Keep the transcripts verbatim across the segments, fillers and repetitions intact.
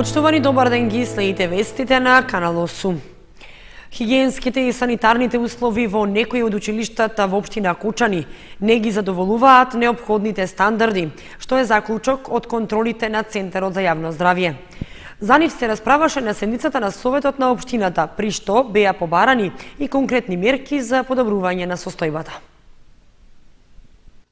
Почитувани, добар ден, ги следите вестите на Канал осум. Хигиенските и санитарните услови во некои од училиштата во општина Кочани не ги задоволуваат неопходните стандарди, што е заклучок од контролите на Центарот за јавно здравје. За нив се расправаше на седницата на Советот на општината, при што беа побарани и конкретни мерки за подобрување на состојбата.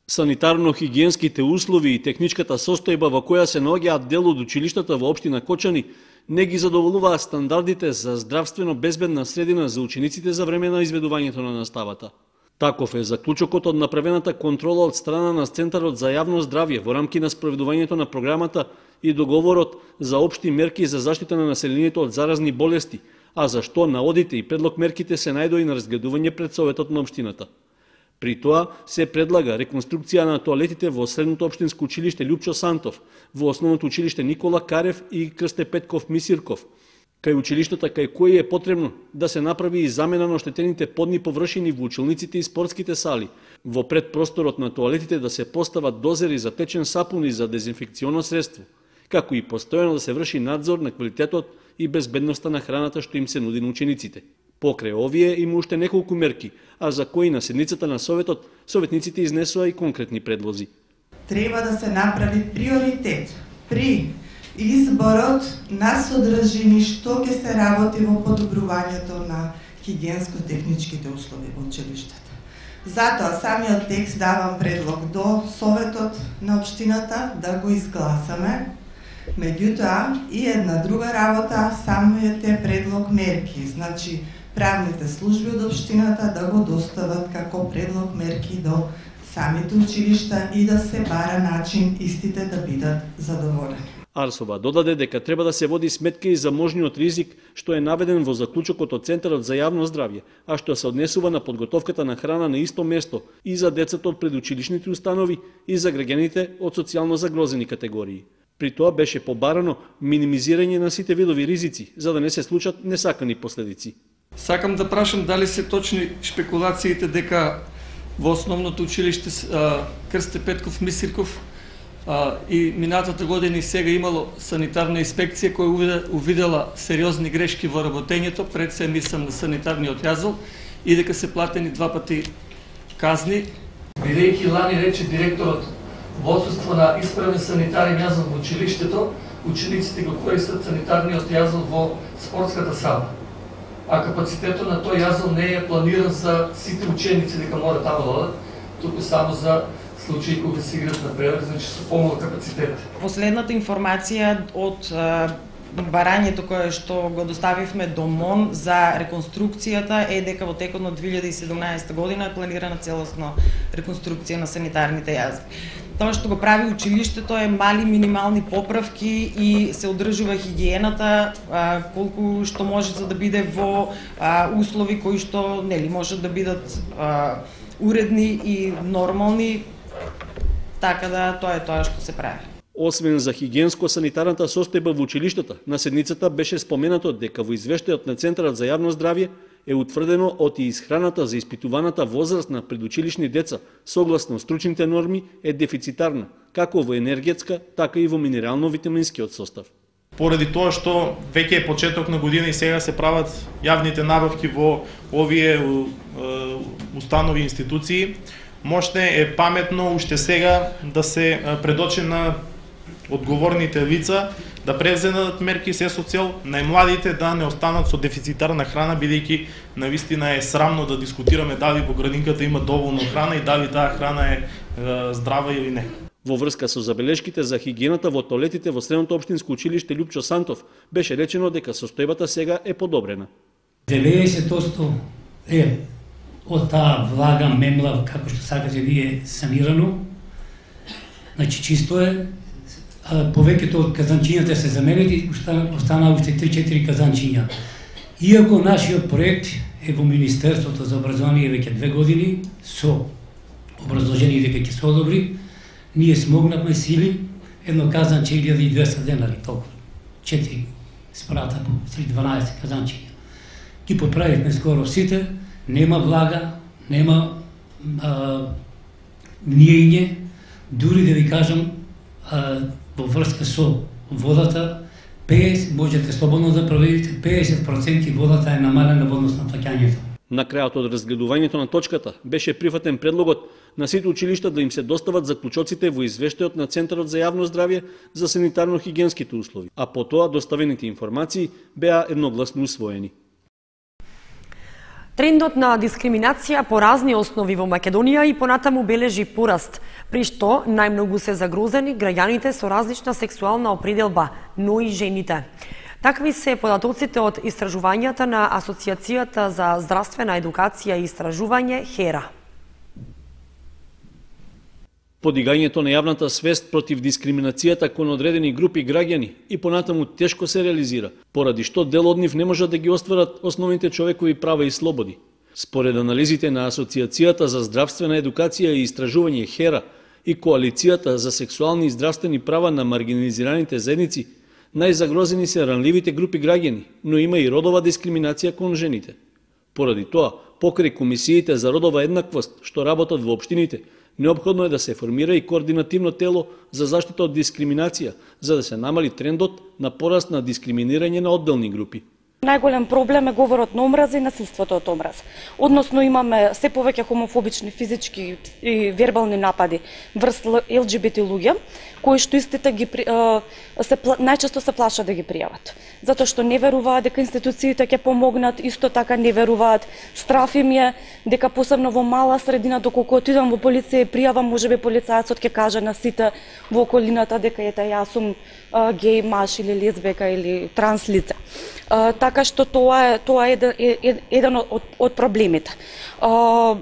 Санитарно-хигиенските услови и техничката состојба во која се наоѓаат дел од училиштата во општина Кочани не ги задоволуваат стандардите за здравствено безбедна средина за учениците за време на изведувањето на наставата. Таков е заклучокот од направената контрола од страна на Центарот за јавно здравје во рамки на спроведувањето на програмата и договорот за општи мерки за заштита на населението од заразни болести, а за што наодите и предлог мерките се најдои на разгледување пред Советот на општината. При тоа се предлага реконструкција на тоалетите во средното општинско училиште Лјупчо Сантов, во основното училиште Никола Карев и Крсте Петков Мисирков, кај училиштата кај кои е потребно да се направи и замена на оштетените подни површини во училниците и спортските сали, во предпросторот на тоалетите да се постават дозери за течен сапун и за дезинфекционо средство, како и постојано да се врши надзор на квалитетот и безбедноста на храната што им се нуди на учениците. Покрај овие има уште неколку мерки, а за кои на седницата на Советот советниците изнесоа и конкретни предлози. Треба да се направи приоритет при изборот на содржини што ќе се работи во подобрувањето на хигиенско-техничките услови во училиштата. Затоа самиот текст давам предлог до Советот на општината да го изгласаме. Меѓутоа и една друга работа, самиот е предлог мерки, значи правните служби од општината да го достават како предлог мерки до самите училишта и да се бара начин истите да бидат задоволени. Арсова додаде дека треба да се води сметка и за можниот ризик што е наведен во заклучокот од Центарот за јавно здравје, а што се однесува на подготовката на храна на исто место и за децата од предучилишните установи и за граѓаните од социјално загрозени категории. При тоа беше побарано минимизирање на сите видови ризици, за да не се случат несакани последици. Сакам да прашам дали се точни шпекулациите дека во основното училиште Крсте Петков Мисирков и минатата година и сега имало санитарна инспекција која увидела сериозни грешки во работењето, пред се мислам на санитарниот јазол, и дека се платени два пати казни. Бидејќи лани рече директорот во отсуство на исправен санитарен јазол во училиштето, учениците го користат санитарниот јазол во спортската сала. А капацитетот на тој јазол не е планиран за сите ученици дека мора таму да одат, туку само за случаи кога се играат на превар, значи со помал капацитет. Последната информација од барањето кое што го доставивме до МОН за реконструкцијата е дека во текот на две илјади и седумнаесета година е планирана целосно реконструкција на санитарните јазди. Тоа што го прави училиштето е мали минимални поправки и се одржува хигиената а, колку што може за да биде во а, услови кои што нели можат да бидат а, уредни и нормални, така да тоа е тоа што се прави. Освен за хигиенско-санитарната состојба во училиштата, на седницата беше споменато дека во извештајот на Центарот за јавно здравје е утврдено од и исхраната за испитуваната возраст на предучилишни деца, согласно стручните норми, е дефицитарна, како во енергетска, така и во минерално-витаминскиот состав. Поради тоа што веќе е почеток на година и сега се прават јавните набавки во овие установи и институции, можне е паметно уште сега да се предочи на одговорните лица да преземат мерки се со цел најмладите да не останат со дефицитарна храна, бидејќи навистина е срамно да дискутираме дали во градинката има доволно храна и дали таа храна е, е здрава или не. Во врска со забелешките за хигиената во тоалетите во средното општинско училиште Лјупчо Сантов беше речено дека состојбата сега е подобрена. деветдесет одсто е од таа влага, мемла, како што сакате вие, санирано. Значи чисто е. Повеќето од казанчињата се заменети, останаа уште три-четири казанчиња. Иако нашиот проект е во Министерството за образование веќе две години, со образложение дека ќе се одобри, ние смогнавме сили, едно казанче илјада и двесте денари, толку, четири спрата по дванаесет казанчиња. Ги поправивме скоро сите, нема влага, нема а, ниење, дури да ви кажам, а, во врска со водата, петдесет можете слободно да проверите, петдесет проценти водата е намалена во однос на плаќањето. На крајот од разгледувањето на точката беше прифатен предлогот на сите училишта да им се достават заклучоците во извештајот на Центарот за јавно здравје за санитарно-хигиенските услови, а потоа доставените информации беа едногласно усвоени. Трендот на дискриминација по разни основи во Македонија и понатаму бележи пораст, при што најмногу се загрозени граѓаните со различна сексуална определба, но и жените. Такви се податоците од истражувањата на Асоциацијата за здравствена едукација и истражување ХЕРА. Подигањето на јавната свест против дискриминацијата кон одредени групи граѓани и понатаму тешко се реализира, поради што дел од нив не можат да ги остварат основните човекови права и слободи. Според анализите на Асоциацијата за здравствена едукација и истражување ХЕРА и Коалицијата за сексуални и здравствени права на маргинализираните заедници, најзагрозени се ранливите групи граѓани, но има и родова дискриминација кон жените. Поради тоа, покрај комисиите за родова еднаквост што работат во општините, неопходно е да се формира и координативно тело за заштита од дискриминација, за да се намали трендот на пораст на дискриминирање на одделни групи. Најголем проблем е говорот на омраза и насилството од омраза. Односно имаме се повеќе хомофобични физички и вербални напади врз ел џи би те луѓе, кои што истите ги се најчесто се плашат да ги пријават, затоа што не веруваат дека институциите ќе помогнат, исто така не веруваат, страф им е дека посебно во мала средина, доколку отидам во полиција и пријавам, можеби полицајецот ќе каже на сите во околината дека ете јас сум геј маж или лесбека или транс лице. Uh, така што тоа е тоа е еден, е, еден од, од проблемите. Uh,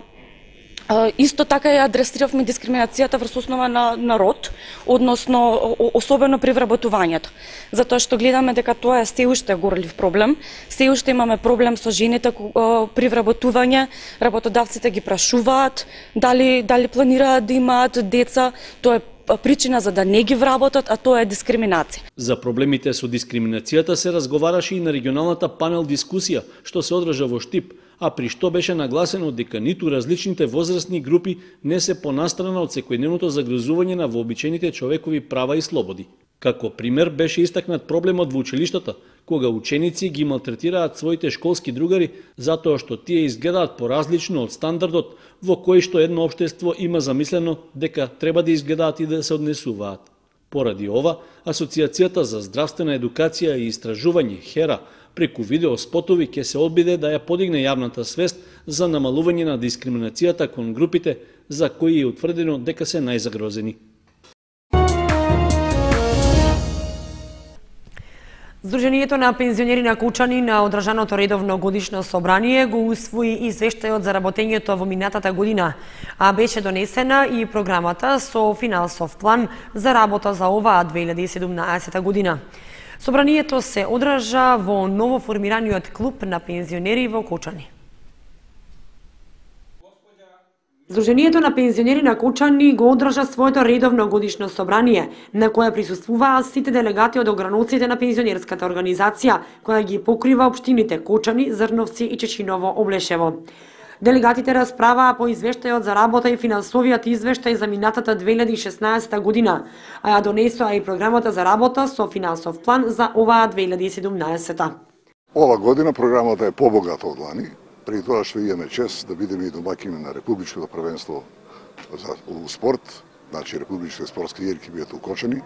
uh, исто така ја адресиравме дискриминацијата врз основа на, на род, односно особено при вработувањето. Затоа што гледаме дека тоа е се уште горлив проблем. Се уште имаме проблем со жените uh, при вработување. Работодавците ги прашуваат дали дали планираат да имаат деца. Тоа е причина за да не ги вработат, а тоа е дискриминација. За проблемите со дискриминацијата се разговараше и на регионалната панел дискусија, што се одржа во Штип, а при што беше нагласено дека ниту различните возрастни групи не се понастрана од секојдневното загрозување на вообичаените човекови права и слободи. Како пример беше истакнат проблемот во училиштата, кога ученици ги малтретираат своите школски другари затоа што тие изгледаат поразлично од стандардот во кој што едно општество има замислено дека треба да изгледаат и да се однесуваат. Поради ова, Асоциацијата за здравствена едукација и истражување ХЕРА преку видеоспотови ќе се обиде да ја подигне јавната свест за намалување на дискриминацијата кон групите за кои е утврдено дека се најзагрозени. Сдруженијето на пензионери на Кучани на одржаното редовно годишно собрание го усвои извештајот за работењето во минатата година, а беше донесена и програмата со финансов план за работа за оваа две илјади и седумнаесета година. Собранието се одржа во новоформираниот клуб на пензионери во Кучани. Сдруженијето на пензионери на Кучани го одржа своето редовно годишно собрание, на кое присуствуваа сите делегати од ограноците на пензионерската организација, која ги покрива општините Кучани, Зрновци и Чечиново Облешево. Делегатите расправаа по извештајот за работа и финансовиот извештај за минатата две илјади и шеснаесета година, а ја донесоа и програмата за работа со финансов план за оваа две илјади и седумнаесета. Ова година програмата е побогата од лани, при тоа што имаме чест да бидеме и домакини на Републичкото првенство за спорт, значи Републичките спортски игри ќе бидат укочени.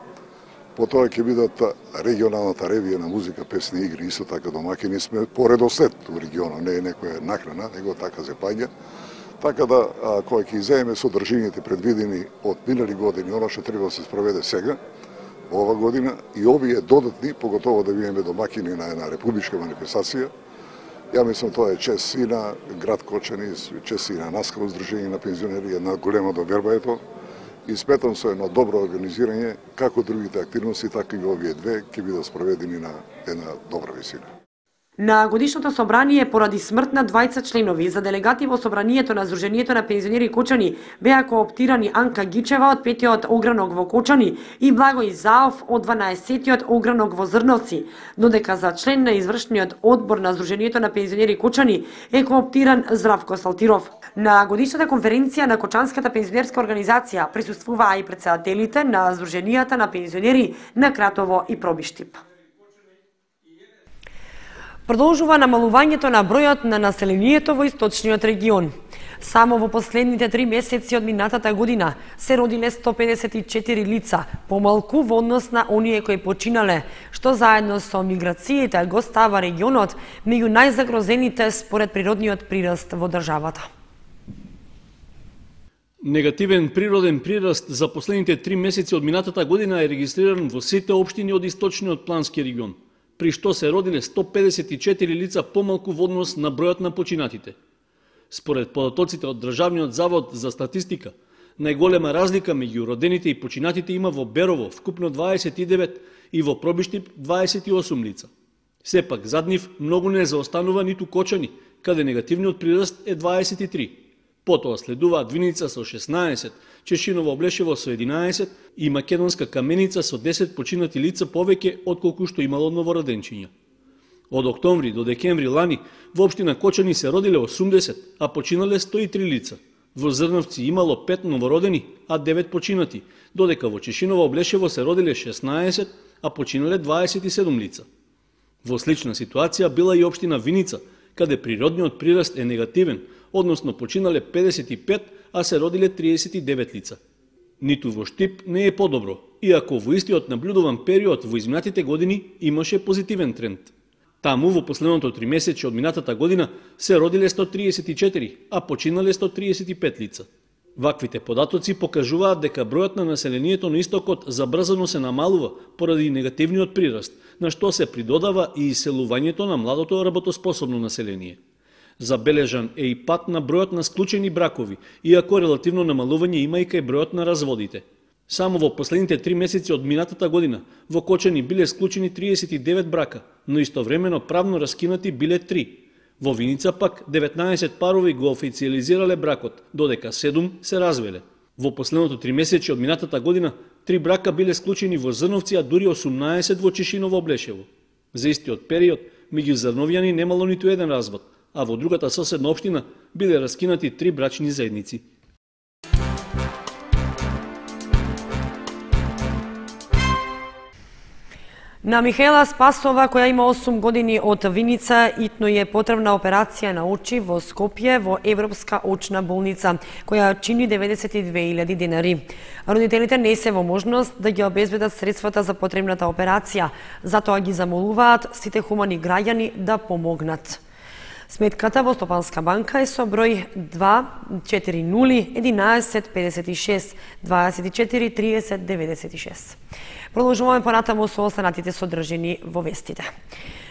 Потоа ќе бидат регионалната ревија на музика, песни и игри, исто така домакини сме по редослед во регионот, не е некоја накрана, него така се паѓа. Така да, кој ќе иземе содржините предвидени од минали години, оно што треба да се спроведе сега, ова година, и овие додатни, поготово да бидеме домакини на една републичка манифестација. Ја мислам тоа е чест и на град Кочани, чест и на нас како Сдружение на пензионери, една голема доверба е тоа. И сметам со едно добро организирање, како другите активности, така и овие две ќе бидат спроведени на една добра висина. На годишното собрание поради смрт на двајца членови за делегати во собранието на Сдруженијето на пензионери Кочани беа кооптирани Анка Гичева од петиот огранок во Кочани и Благој Заов од дванаесеттиот огранок во Зрновци, додека за член на извршниот одбор на Сдруженијето на пензионери Кочани е кооптиран Здравко Салтиров. На годишната конференција на Кочанската пензионерска организација присуствуваа и претседателите на Сдруженијата на пензионери на Кратово и Пробиштип. Продолжува намалувањето на бројот на населението во источниот регион. Само во последните три месеци од минатата година се родиле сто педесет и четири лица, помалку во однос на оние кои починале, што заедно со миграциите го става регионот меѓу најзагрозените според природниот прираст во државата. Негативен природен прираст за последните три месеци од минатата година е регистриран во сите општини од источниот плански регион, при што се родиле сто педесет и четири лица помалку во однос на бројот на починатите. Според податоците од Државниот завод за статистика, најголема разлика меѓу родените и починатите има во Берово, вкупно дваесет и девет, и во Пробиштип дваесет и осум лица. Сепак, зад нив многу не заостанува ниту Кочани, каде негативниот прираст е дваесет и три. Потоа следуваат Виница со шеснаесет, Чешиново Облешево со единаесет и Македонска Каменица со десет починати лица повеќе отколку што имало новороденчиња. Од октомври до декември лани во општина Кочани се родиле осумдесет, а починале сто и три лица. Во Зрнавци имало пет новородени, а девет починати, додека во Чешиново Облешево се родиле шеснаесет, а починале дваесет и седум лица. Во слична ситуација била и општина Виница, каде природниот прираст е негативен, односно починале педесет и пет, а се родиле триесет и девет лица. Ниту во Штип не е подобро, иако во истиот наблюдуван период во изминатите години имаше позитивен тренд. Таму во последното тримесечје од минатата година се родиле сто триесет и четири, а починале сто триесет и пет лица. Ваквите податоци покажуваат дека бројот на населението на истокот забрзано се намалува поради негативниот прираст, на што се придодава и иселувањето на младото работоспособно население. Забележан е и пат на бројот на склучени бракови, иако релативно намалување има и кај бројот на разводите. Само во последните три месеци од минатата година во Кочани биле склучени триесет и девет брака, но истовремено правно раскинати биле три. Во Виница пак деветнаесет парови го официализирале бракот, додека седум се развеле. Во последното три месеци од минатата година три брака биле склучени во Зрновци, а дури осумнаесет во Чешиново Облешево. За истиот период меѓу зрновјани немало ниту еден развод, а во другата соседна општина биле раскинати три брачни заедници. На Михаела Спасова, која има осум години од Виница, итно е потребна операција на очи во Скопје во Европска очна болница, која чини деветдесет и две илјади денари. Родителите не се во можност да ги обезбедат средствата за потребната операција, затоа ги замолуваат сите хумани граѓани да помогнат. Сметката во Стопанска банка е со број два четири нули единаесет педесет и шест дваесет и четири тридесет деветдесет и шест. Продолжуваме понатаму со останатите содржини во вестите.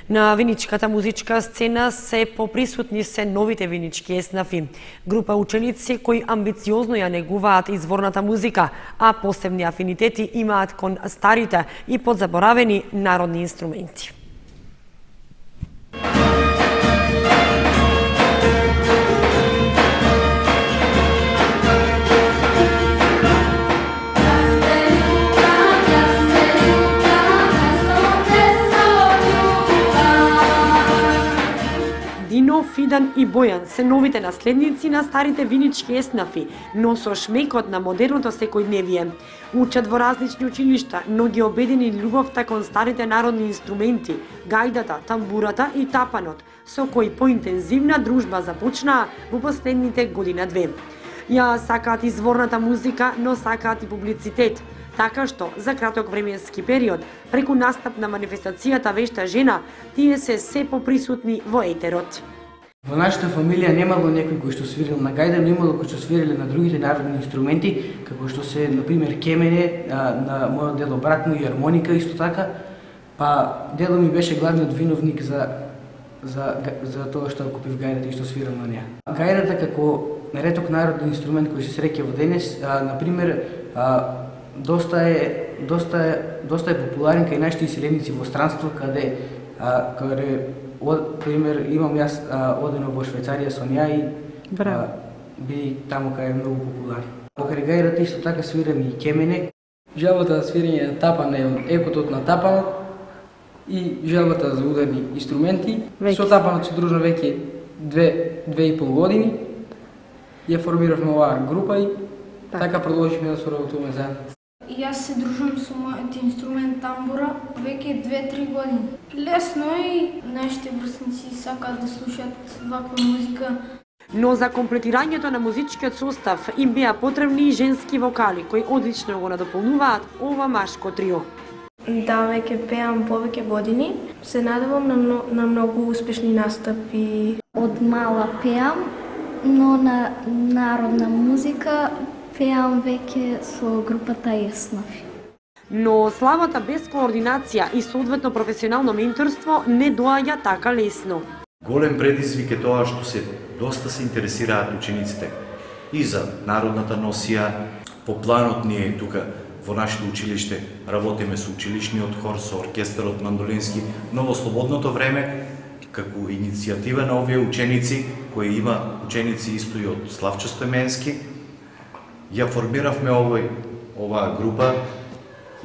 На виничката музичка сцена се поприсутни се новите винички еснафи, група ученици кои амбициозно ја негуваат изворната музика, а посебни афинитети имаат кон старите и подзаборавени народни инструменти. Фидан и Бојан се новите наследници на старите винички еснафи, но со шмекот на модерното секојдневие. Учат во различни училишта, но ги обедини љубовта кон старите народни инструменти, гајдата, тамбурата и тапанот, со кои поинтензивна дружба започнаа во последните година-две. Ја сакаат изворната музика, но сакаат и публицитет, така што за краток временски период, преку настап на манифестацијата Вешта жена, тие се се поприсутни во етерот. Во нашата фамилија немало некој кој што свирил на гајда, но имало кој што свириле на другите народни инструменти, како што се, например, кемене, на мојот дело брат му и армоника исто така, па дело ми беше главниот виновник за за за тоа што купив гајдата и што свирам на неа. Гајдата како реток народен инструмент кој се среќа во денес, например, доста е доста е доста е популарен кај нашите иселеници во странство, каде каде од пример имам јас одено во Швајцарија со неа и а, би таму кај е многу популарен. Покрај гајдата исто така свирам и кемене. Желбата за свирење на тапан е од екотот на тапанот и желбата за ударни инструменти. Веќе. Со тапанот се дружно веќе две две и пол години. Ја формиравме оваа група и така, така продолживме да соработуваме заедно. Јас се дружам со мојот инструмент тамбура веќе две-три години. Лесно и нашите врсници сакаат да слушаат ваква музика. Но за комплетирањето на музичкиот состав им беа потребни и женски вокали, кои одлично го надополнуваат ова машко трио. Да, веќе пеам повеќе години. Се надевам на, на многу успешни настапи. Од мала пеам, но на народна музика пеам веќе со групата Еснафи. Но славата без координација и соодветно професионално менторство не доаѓа така лесно. Голем предизвик е тоа што се доста се интересираат учениците и за народната носија. По планот ние тука во нашето училиште работиме со училишниот хор, со оркестарот мандолински, но во слободното време, како иницијатива на овие ученици, кои има ученици исто и од Славчо Стојменски, ја формиравме овој, оваа група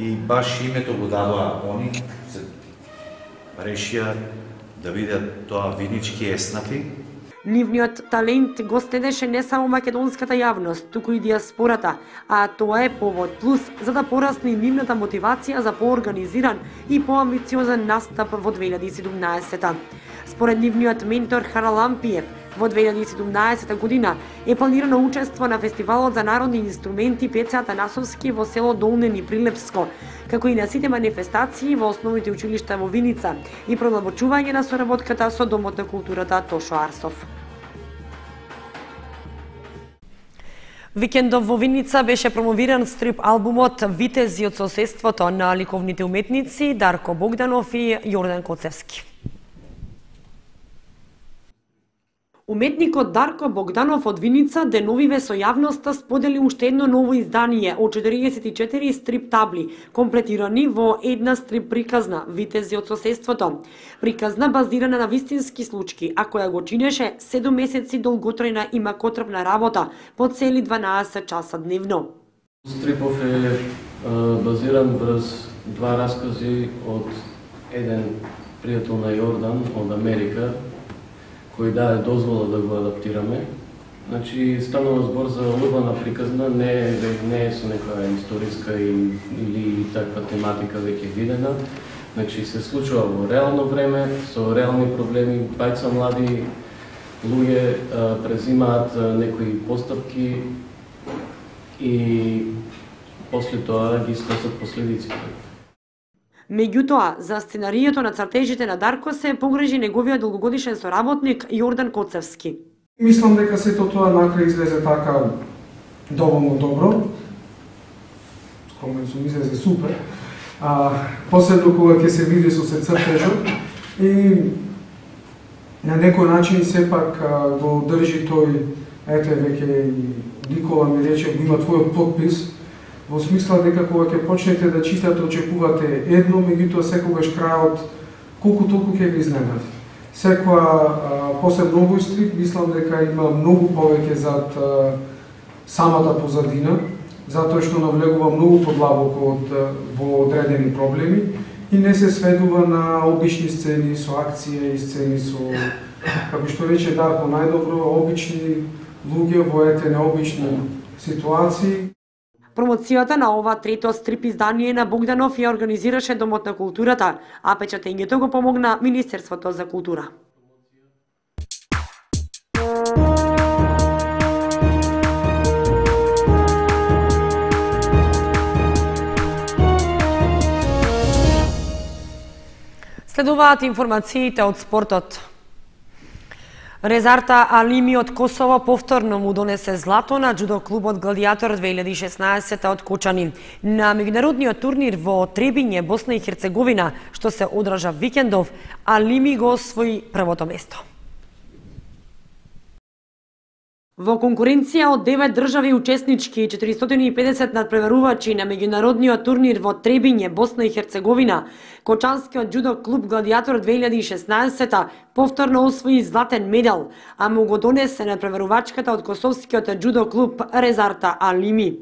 и баш името го дадоа они, се решија да видат тоа Винички Еснафи. Нивниот талент го следеше не само македонската јавност, туку и диаспората, а тоа е повод плюс за да порасне нивната мотивација за поорганизиран и поамбициозен настап во две илјади и седумнаесета. Според нивниот ментор Харал Ампиев, во две илјади и седумнаесета година е планирано учество на Фестивалот за народни инструменти Пеце Атанасовски во село Долнен и Прилепско, како и на сите манифестации во основните училишта во Виница и продлабочување на соработката со Домот на културата Тошо Арсов. Викендов во Виница беше промовиран стрип албумот Витези од соседството на ликовните уметници Дарко Богданов и Јордан Коцевски. Уметникот Дарко Богданов од Виница деновиве со јавноста сподели уште едно ново издание од четириесет и четири стрип табли, комплетирани во една стрип приказна Витези од соседството. Приказна базирана на вистински случаи, а која го чинеше седум месеци долготрајна и макотрпна работа по цели дванаесет часа дневно. Стрипов е базиран врз два раскази од еден пријател на Јордан од Америка, кој даде дозвола да го адаптираме. Значи, станува збор за урбана приказна, не, не е со некоја историска или таква тематика веќе видена. Значи, се случува во реално време, со реални проблеми, пајца млади луѓе презимаат некои постапки и после тоа ги сносат последиците. Меѓутоа, за сценарието на цртежите на Дарко се погрежи неговиот долгогодишен соработник Јордан Коцевски. Мислам дека сето тоа накрај излезе така доволно добро. Кога се излезе супер. А посебно кога ќе се види со се цртежот и на некој начин сепак го држи тој, ете веќе Никола ми рече, го има твојот подпис, во смисла дека кога ќе почнете да читате, очекувате едно, меѓутоа секогаш крајот колку толку ќе ви изненади. Секоја посебно овој стрип, мислам дека има многу повеќе зад а, самата позадина, затоа што навлегува многу подлабоко од во одредени проблеми и не се сведува на обични сцени со акција и сцени со, како што рече Дарко најдобро, обични луѓе во ете необични ситуации. Промоцијата на ова трето стрип издание на Богданов ја организираше Домот на културата, а печатењето го помогна Министерството за култура. Следуваат информациите од спортот. Резарта Алими од Косово повторно му донесе злато на џудо клубот Гладиатор две илјади и шеснаесета од Кочани. На меѓународниот турнир во Требиње, Босна и Херцеговина, што се одржа викендов, Алими го освои првото место. Во конкуренција од девет држави учеснички и четиристотини и педесет надпреварувачи на меѓународниот турнир во Требиње, Босна и Херцеговина, Кочанскиот џудо клуб Гладиатор две илјади и шеснаесета повторно освои златен медал, а му го донесе надпреварувачката од косовскиот џудо клуб Резарта Алими.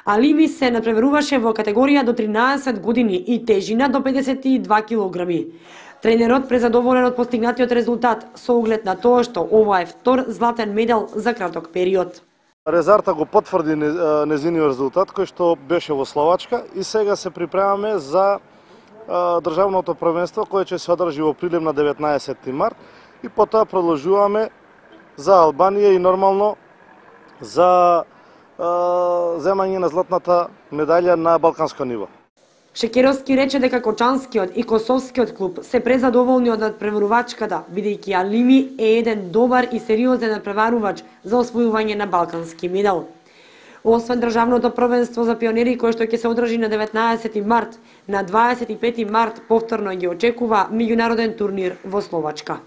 Алими се надпреваруваше во категорија до тринаесет години и тежина до педесет и два килограми. Тренерот презадоволен од постигнатиот резултат со оглед на тоа што ова е втор златен медал за краток период. Резарта го потврди незиниот резултат кој што беше во Словачка и сега се припремаме за државното првенство кое ќе се одржи во Прилеп на деветнаесетти март и потоа продолжуваме за Албанија и нормално за земање на златната медалја на балканско ниво. Шекеровски рече дека Кочанскиот и Косовскиот клуб се презадоволни од надпреварувачката, бидејќи Алими е еден добар и сериозен надпреварувач за освојување на балкански медал. Освен државното првенство за пионери кое што ќе се одржи на деветнаесетти март, на дваесет и пети март повторно ги очекува меѓународен турнир во Словачка.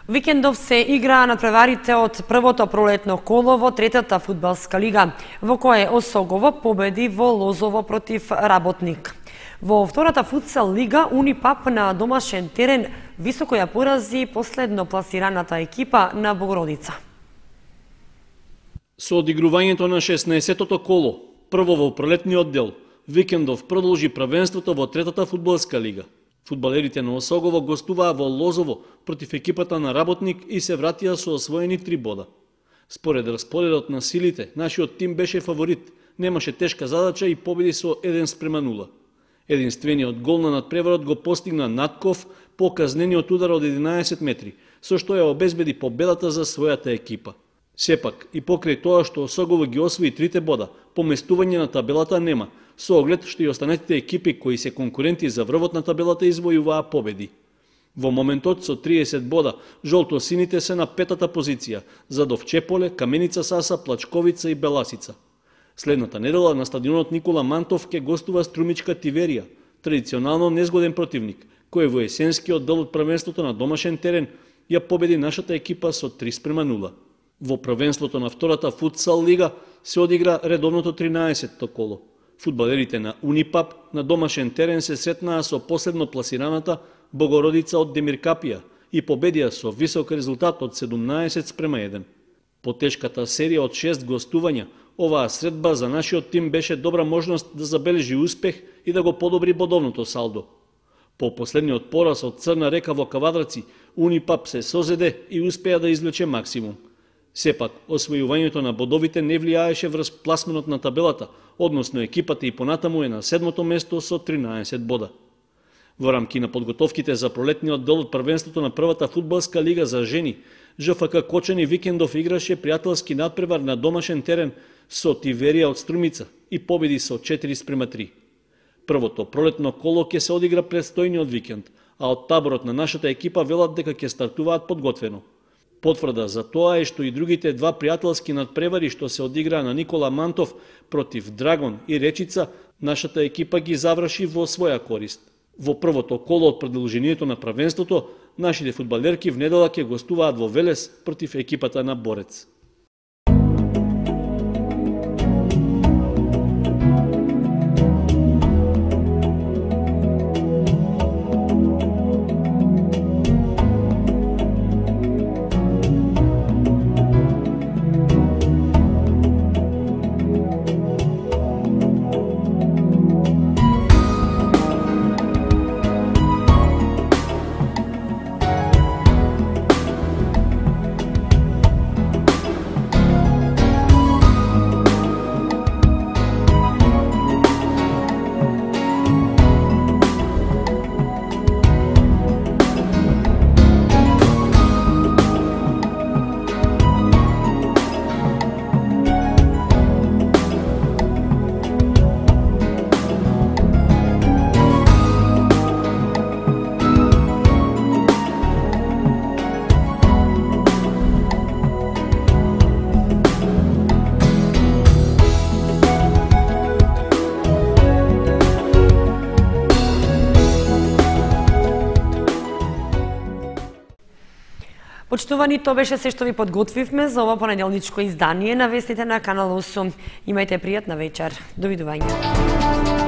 Викендов се играа надпреварите од првото пролетно коло во третата фудбалска лига, во кое Осогово победи во Лозово против Работник. Во втората футсал лига Унипап на домашен терен високо ја порази последно пласираната екипа на Богородица. Со одигрувањето на шеснаесеттото коло, прво во пролетниот дел, Викендов продолжи првенството во третата фудбалска лига. Фудбалерите на Осогово гостуваа во Лозово против екипата на Работник и се вратија со освоени три бода. Според распоредот на силите, нашиот тим беше фаворит, немаше тешка задача и победи со еден спрема нула. Единствениот гол на надпреварот го постигна Натков по казнениот удар од единаесет метри, со што ја обезбеди победата за својата екипа. Сепак, и покрај тоа што Осогово ги освои трите бода, поместување на табелата нема, со оглед што и останатите екипи кои се конкуренти за врвот на табелата извојуваа победи. Во моментот со триесет бода, жолто-сините се на петата позиција, за Довчеполе, Каменица Саса, Плачковица и Беласица. Следната недела на стадионот Никола Мантов ке гостува Струмичка Тиверија, традиционално незгоден противник, кој во есенскиот дел од првенството на домашен терен ја победи нашата екипа со три спрема нула. Во првенството на втората футсал лига се одигра редовното тринаесетто коло. Фудбалерите на Унипап на домашен терен се сретнаа со последно пласираната Богородица од Демиркапија и победија со висок резултат од седумнаесет спрема еден. По тешката серија од шест гостувања, оваа средба за нашиот тим беше добра можност да забележи успех и да го подобри бодовното салдо. По последниот пораз од Црна река во Кавадраци, Унипап се созеде и успеа да извлече максимум. Сепак, освојувањето на бодовите не влијаеше врз пласменот на табелата, односно екипата и понатаму е на седмото место со тринаесет бода. Во рамки на подготовките за пролетниот дел од првенството на првата фудбалска лига за жени, ЖФК Кочани Викендов играше пријателски надпревар на домашен терен со Тиверија од Струмица и победи со четири спрема три. Првото пролетно коло ќе се одигра предстојниот викенд, а од таборот на нашата екипа велат дека ќе стартуваат подготвено. Потврда за тоа е што и другите два пријателски надпревари што се одиграа на Никола Мантов против Драгон и Речица, нашата екипа ги заврши во своја корист. Во првото коло од продолжението на првенството, нашите фудбалерки в недела ќе гостуваат во Велес против екипата на Борец. Почитувани, тоа беше се што ви подготвивме за ова понеделничко издание на вестите на Канал осум. Имајте пријатна вечер. Довидување.